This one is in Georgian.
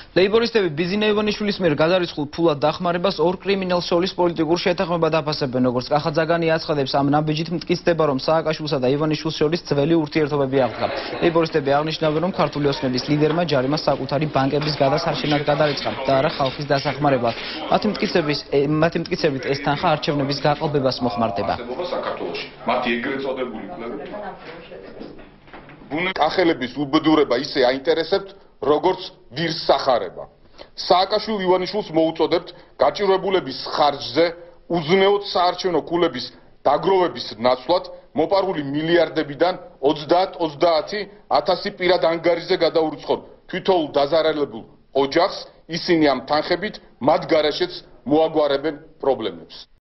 ლეიბორისტები ბიზინა ივანიშვილის მიერ გადარიცხულ ფულად დახმარებას ორ კრიმინალ სოლის პოლიტიკურ შეთანხმებად აფასებენ, როგორც კახაძაგანი აცხადებს, ამ ნაბიჯით მტკიცდება, რომ სააკაშვილსა და ივანიშვილს შორის ძველი ურთიერთობები აღდგა. ლეიბორისტები აღნიშნავენ, რომ ქართული ოცნების ლიდერმა ჯარიმა საკუთარი ბანკების გადასარჩენად გადარიცხა და არა ხალხის დასახმარებლად. მათი მტკიცებით ეს თანხა არჩევნების გაყალბებას მოხმარდება. მათი ეგრეთ წოდებული კახელების უბედურება ისე აინტერესებთ, როგორც ვირს სახარება. სააკაშვილ ივანიშვილს მოუწოდებთ გაჭირვებულების ხარჯზე უზნეოდ საარჩევნო ქულების დაგროვების ნაცვლად მოპარული მილიარდებიდან 30-30 პირად ანგარიშზე გადაურიცხონ თვითოულ დაზარალებულ ოჯახს, ისინი ამ თანხებით მათ გარეშეც მოაგვარებენ პრობლემებს.